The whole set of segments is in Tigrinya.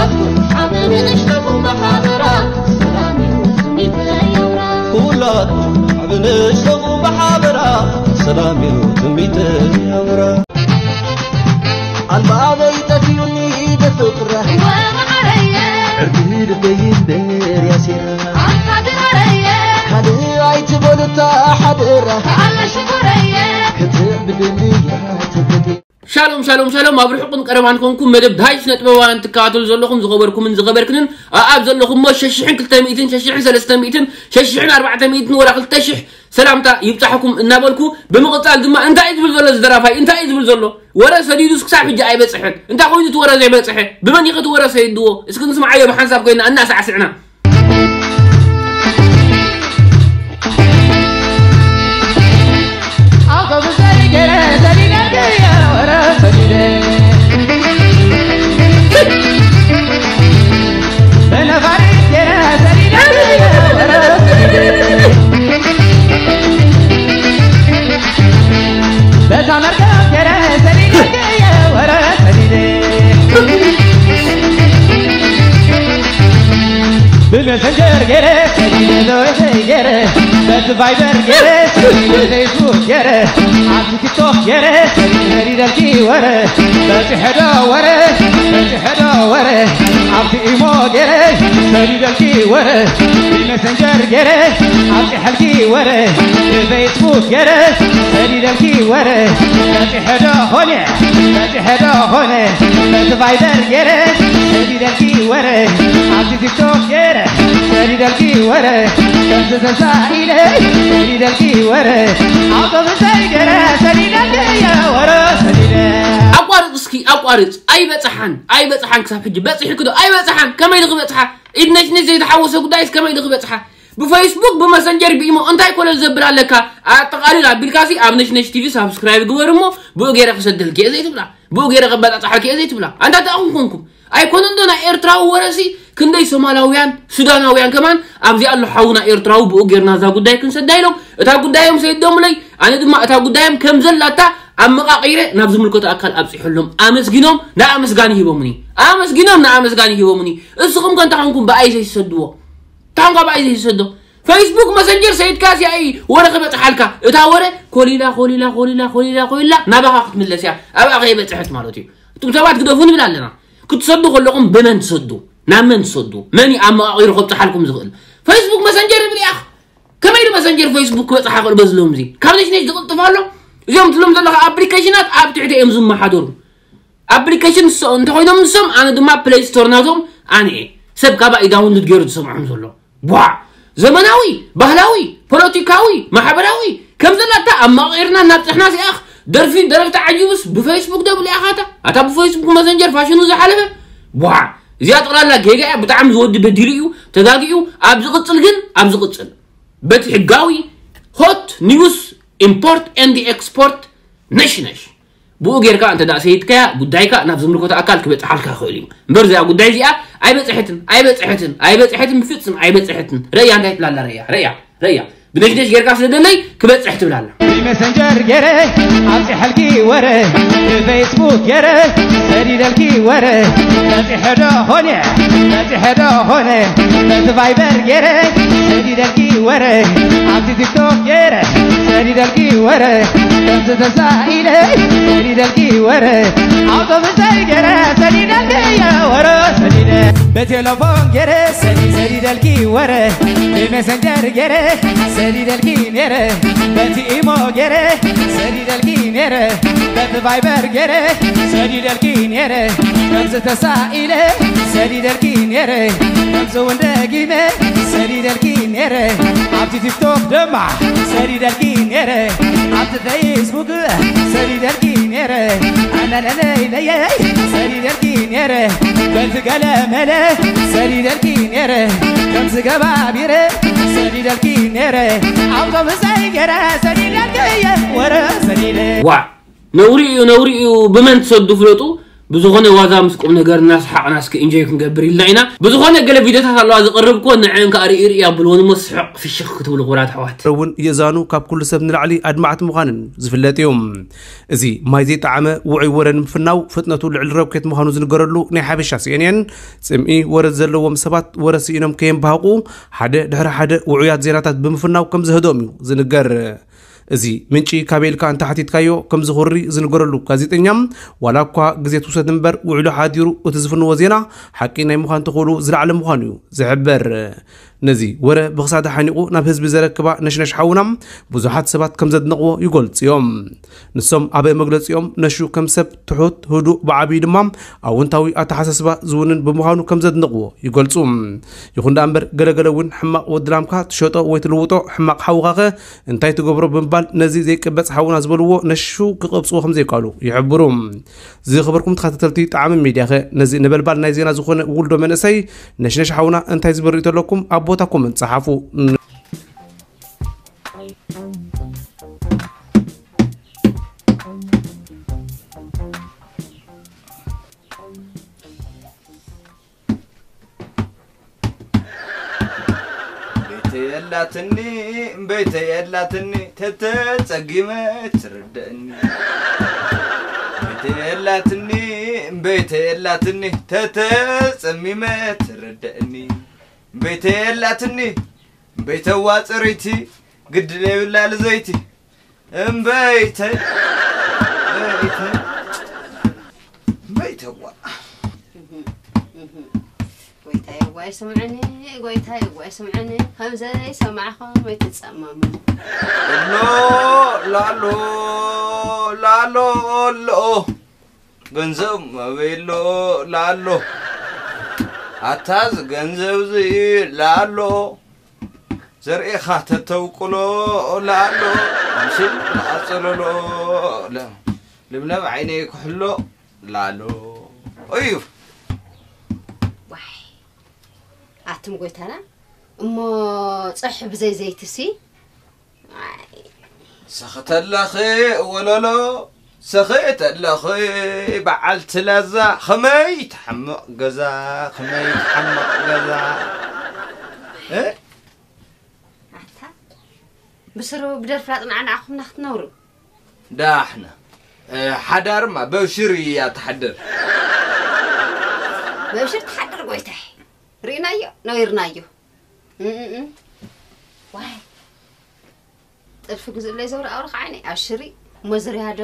ዓብ ንእሽተኹም ብሓበራ ሰላም እዩ ትምኒተይ ኣውራ። ኩላትኩም ዓብ ንእሽተኹም ብሓበራ ሰላም እዩ ትምኒተይ ኣውራ። ኣልባበይ ጠፊኡኒ ደፍጥረ ወመዓረየ ዕርዲ ልበይ እምበር ያሲራ ኣንታ ድራረየ ካልእ ኣይትበሉታ ሓደራ ኣለ ሽኮረየ ክትዕብድኒ እያ ትብለኒ። ሻሎም ሻሎም ሻሎም፣ ኣብ ርሑቕን ቀረባን ኮንኩም መደብ ዳይሽ ነጥበባውያን ትከታተሉ ዘለኹም ዝኸበርኩምን ዝኸበርክንን ኣኣብ ዘለኹሞ ሸሽሕን ክልተ ሚእትን ሸሽሕን ሰለስተ ሚእትን ሸሽሕን ኣርባዕተ ሚእትን ወላ ክልተ ሽሕ ሰላምታ ይብጻሕኩም እናበልኩ፣ ብምቕጻል ድማ እንታይ እዩ ዝብል ዘሎ እዚ ደራፋይ? እንታይ እዩ ዝብል ዘሎ? ወረ ሰዲዱስ ክሳብ ሕጂ ኣይበጽሐን። እንታይ ኮይኑ እቲ ወረ ዘይበጽሐ? ብመን እዩ እቲ ወረ ሰይድዎ? እስኪ ንስምዓዮ ብሓንሳብ ኮይና እናሳዕስዕና። ብመሰንጀር ገይረ ሰዲደ ዘወተይ ገይረ በቲ ቫይበር ገይረ በፌስቡክ ገይረ ኣብቲ ቲክቶክ ገይረ ሰዲደልኪ ወረ በፂሐዶ ወረ በፂሐዶ ወረ ኣብቲ ኢሞ ገይረ ሰዲደልኪ ወረ ብመሰንጀር ገይረ ኣብፂሐልኪ ወረ ብፌስቡክ ገይረ ሰዲደልኪ ወረ በፂሐዶ ኾነ በፂሐዶ ኾነ በቲ ቫይበር ገይረ ሰዲደልኪ ወረ ኣብዚ ቲክቶክ ገይረ ሰዲደልኪ ወረ ከምዚ ተሳኢለ ሰዲደልኪ ወረ ኣውቶቡሰይ ገይረ ሰዲደልኪ ወረ ሰዲደ ኣቋርጽ እስኪ ኣቋርጽ። ኣይበጽሓን ኣይበጽሓን ክሳብ ሕጂ በጺሕኪ ዶ ኣይበጽሓን? ከመይ ድኺ በጽሓ? ኢድ ነሽነሽ ዘይተሓወሰ ጉዳይስ ከመይ ድኺ በጽሓ? ብፌስቡክ ብመሰንጀር ብኢሞ እንታይ ኮለል ዘብል ኣለካ? ኣጠቓሊል ኣቢልካሲ ኣብ ነሽነሽ ቲቪ ሳብስክራይብ ግበር እሞ ብኡ ገይረ ክሰደልኪ እየ ዘይትብላ ብኡ ገይረ ከበጻጽሓልኪ እየ ዘይትብላ ኣንታ ተኣኹም ኮንኩም ኣይኮነን ዶ ናይ ኤርትራዊ ወረሲ ክንደይ ሶማላውያን ሱዳናውያን ከማን ኣብዚ ኣሎ ሓውና ኤርትራዊ ብኡ ጌርና እዛ ጉዳይ ክንሰዳ ኢሎም እታ ጉዳዮም ሰይዶምለይ ኣነ ድማ እታ ጉዳዮም ከም ዘላታ ኣመቓቒረ ናብ ዝምልከቶ ኣካል ኣብፂሐሎም ኣመስጊኖም ንኣመስጋኒ ሂቦምኒ ኣመስጊኖም ንኣመስጋኒ ሂቦምኒ እስኹም ከ እንታይ ኮንኩም ብኣይ ዘይትሰድዎ እንታይ ኮንካ ብኣይ ዘይትሰዶ ፌስቡክ መሰንጀር ሰይድካ ሲኣይ ወረ ክበፅሓልካ እታ ወረ ኮሊላ ኮሊላ ኮሊላ ኮሊላ ኮሊላ ናባኻ ክትምለስ እያ ኣብኣ ከይበፅሐት ማለት እዩ እቱም ሰባት ግደፉ ንብል ኣለና ክትሰዱ ከለኹም ብመን ትሰዱ ናብ መን ትሰዱ መን እዩ ኣመቓቒሩ ከብፅሓልኩም ዝኽእል ፌስቡክ መሰንጀር ይብል ኢኻ ከመይ ኢሉ መሰንጀር ፌስቡክ ክበፅሓ ክእል በዚ ሎም እዚ ካብ ነሽነሽ ዝቕልጥፍ ኣሎ እዚኦም ትብሎም ዘለኻ ኣፕሊኬሽናት ኣብ ትሕቲ እዮም ዝመሓደሩ ኣፕሊኬሽን እንተኮይኖም ንሶም ኣነ ድማ ፕሌይ ስቶር ናቶም ኣነ እየ ሰብ ካባይ ዳውንሉድ ገይሩ ዝሰምዖም ዘሎ ቧዕ ዘመናዊ ባህላዊ ፖለቲካዊ ማሕበራዊ ከም ዘላታ ኣማቒርና እናብፅሕና ሲኣኽ ደርፊ ደረፍቲ ዓጂቡስ ብፌስቡክ ደብል ኢኻታ ኣታ ብፌስቡክ መሰንጀር ፋሽኑ ዝሓለፈ ቧዕ እዚኣ ጠቕላላ ጌጋ እያ ብጣዕሚ ዝወዲ በዲሉ እዩ ተጋጊኡ ኣብ ዝቕፅል ግን ኣብ ዝቕፅል በቲ ሕጋዊ ሆት ኒውስ ኢምፖርት ኤንድ ኤክስፖርት ነሽነሽ ብኡ ጌርካ እንተ ደኣ ሰይድካያ ጉዳይካ ናብ ዝምልከቶ ኣካል ክበጽሓልካ ይኽእል እዩ እምበር እዚኣ ጉዳይ እዚኣ ኣይበጽሐትን ኣይበጽሐትን ኣይበጽሐትን ብፍጽም ኣይበጽሐትን ረእያ እንታይ ትብላላ ረእያ ረእያ ረእያ ብነሽነሽ ጌርካ ስለ ደለይ ክበጽሕ ትብላላ ብመሰንጀር ገይረ ኣብፅሐልኪ ወረ ብፌስቡክ ገይረ ሰዲደልኪ ወረ በፂሐዶ ኾነ በፂሐዶ ኾነ በቲ ቫይበር ገይረ ሰዲደልኪ ወረ ኣብቲ ቲክቶክ ገይረ ሰዲደልኪ ወረ ከምዚ ተሳኢለ ሰዲደልኪ ወረ ኣውቶቡሰይ ገይረ ሰዲደልኪ ወረ ሰዲደ ብቴሌፎን ገይረ ሰዲ ሰዲደልኪ ወረ ብሜሰንጀር ገይረ ሰዲደልኪ ነይረ በቲ ኢሞ ገይረ ሰዲደልኪ ነይረ በቲ ቫይበር ገይረ ሰዲደልኪ ነይረ ከምዚ ተሳኢለ ሰዲደልኪ ነይረ ከምዚ እውን ደጊመ ሰዲደልኪ ነይረ ኣብቲ ቲክቶክ ድማ ሰዲደልኪ ነይረ ኣብቲ ፌስቡክ ሰዲደልኪ ነይረ ኣናናነይለየይ ሰዲደልኪ ነይረ በቲ ገለመለ ሰዲደልኪ ነይረ ከምዚ ገባቢረ ሰዲደልኪ ነይረ ኣውቶቡሰይ ገይረ ሰዲደልኪ እየ ወረ ሰዲደ ዋ ነውሪ እዩ ነውሪ እዩ ብመን ትሰዱ ፍለጡ ብዝኾነ ዋዛ ምስ ቁም ነገር እናሰሓቕና እስኪ ኢንጆይ ክንገብር ኢልና ኢና። ብዝኾነ ገለ ቪድዮታት ኣለዋ ዝቕርብ እኮ ንዐን ከኣ ርኢ ርኢ ኣብልዎ ንመስሕቕ ፍሽኽ ክትብሉ ክቡራት ኣሕዋት። እውን የእዛኑ ካብ ኩሉ ሰብ ንላዕሊ ኣድማዕቲ ምዃንን ዝፍለጥ እዩ። እዚ ማይ ዘይጠዓመ ውዑይ ወረ ንምፍናው ፍጥነቱ ልዕሊ ሮኬት ምዃኑ ዝንገረሉ ናይ ሓበሻ ሲኤንኤን፣ ጽምኢ ወረ ዘለዎም ሰባት ወረ ስኢኖም ከየምባህቑ ሓደ ድሕሪ ሓደ ውዑያት ዜናታት ብምፍናው ከም ዘህደኦም እዩ ዝንገር። እዚ ምንጪ ካበይ ኢልካ እንተሓቲትካዮ ከም ዝኹሪ ዝንገረሉ ጋዜጠኛ፣ ዋላ እኳ ግዜ ትውሰድ እምበር ውዒሉ ሓዲሩ እቲ ዝፍንዎ ዜና ሓቂ ናይ ምዃን ተኽእሎ ዝለዓለ ምዃኑ እዩ ዝሕበር። ነዚ ወረ ብኽሳዳ ሓኒቑ ናብ ህዝቢ ዘረክባ ነሽነሽ ሓውና ብዙሓት ሰባት ከም ዘድንቕዎ ይገልጹ እዮም። ንሶም ኣብ መግለጺኦም ነሹ ከም ሰብ ትሑት፣ ህዱእ፣ ብዓብዩ ድማ ኣወንታዊ ኣተሓሳስባ ዝውንን ብምዃኑ ከም ዘድንቕዎ ይገልጹ። ይኹን ደኣ እምበር ገለገለ እውን ሕማቕ ወዲ ላምካ ትሸጦ ወይ ትልውጦ፣ ሕማቕ ሓውኻኸ እንታይ ትገብሮ ብምባል ነዚ ዘይቅበጽ ሓውና ዝበልዎ ነሹ ክቐብጽዎ ከም ዘይከኣሉ ይሕብሩ። ዝኸበርኩም ተኸታተልቲ ጣዕሚ ሚድያኸ ነዚ ነበልባል ናይ ዜና ዝኾነ ውልዶ መንእሰይ ነሽነሽ ሓውና እንታይ ዝብል ርእይቶ ኣለኩም? ኣብ ቦታ ኮመንት ጸሓፉ። ቤተ የላትኒ፣ ቤተ የላትኒ፣ ተተጸጊመ ትርደእኒ። ቤተ የላትኒ፣ ቤተ የላትኒ፣ ተተጸሚመ ትርደእኒ። ቤተ የላትኒ፣ ቤተዋ ጽርይቲ፣ ግድል የብላ ልዘይቲ። እምበይተይ፣ እምበይተይ፣ እምበይተዋ። ጎይታዬ ዋይ ስምዕኒ፣ ጎይታዬ ዋይ ስምዕኒ፣ ከም ዘይሰማዕኹም ኣይትጸመሙ። ኣሎ፣ ላሎ፣ ላሎ፣ ኣሎ። ገንዘብ መበሎ ላሎ። ኣታ እዚ ገንዘብ እዚ ላሎ። ዘርእኻ ተተውቅሎ ላሎ። ኣምሲል ንኣጸለሎ። ለ-፣ ልምለም ዓይነይ ክሕሎ ላሎ። እዩ። ዋይ፣ ኣቱም ጎይታና፣ እሞ ጸብሒ ብዘይ ዘይትሲ? ኣይ። ሰኺተለኺ ወለሎ፣ ሰኺተለኺ በዓልቲ ላዛ፣ ኸመይ ትሓምቕ ገዛ፣ ኸመይ ትሓምቕ ገዛ። እ? ኣታ፣ ብስሩ ብደርፍራ ጽናዕናዕኹምና ክትነብሩ። ዳሕና። እ፣ ሓዳርማ በብሽር እያ ትሓድር። በብሽር ትሓድር ጎይታይ። ርኢናዮ፣ ነዊርናዮ። እም፣ እም፣ እም። ዋይ። ጥልፊ ግዝእለይ ዘውሪ ኣውሪ ከዓኒ፣ ኣብሽሪ። እሞ ዝርያ ዶ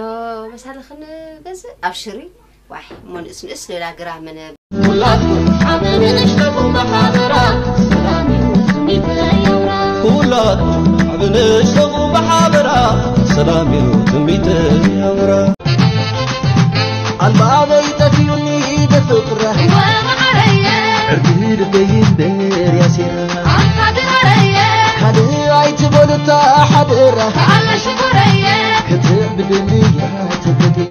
መሳልኽን ገዝእ? ኣብሽሪ። ዋይ፣ እሞ ንእስ ንእስ ሌላ ግራምን ኩላትኩም ዓብን ንእሽተኹም ብሓበራ ሰላም እዩ ስሚት የውራ። ኩላትኩም ዓብን ንእሽተኹም ብሓበራ ሰላም እዩ ትንቢት የውራ። ኣልባበይ ጠፊኡኒ ብፍቕራ ወመዓረየ ዕርዲ ልበይ እምበር ያሲራ ኣንታ ድሃረየ ካልእ ኣይትበሉታ ሓደራ ኣላ ሽኮረየ ክትዕብድኒ እያ ትብለኒ።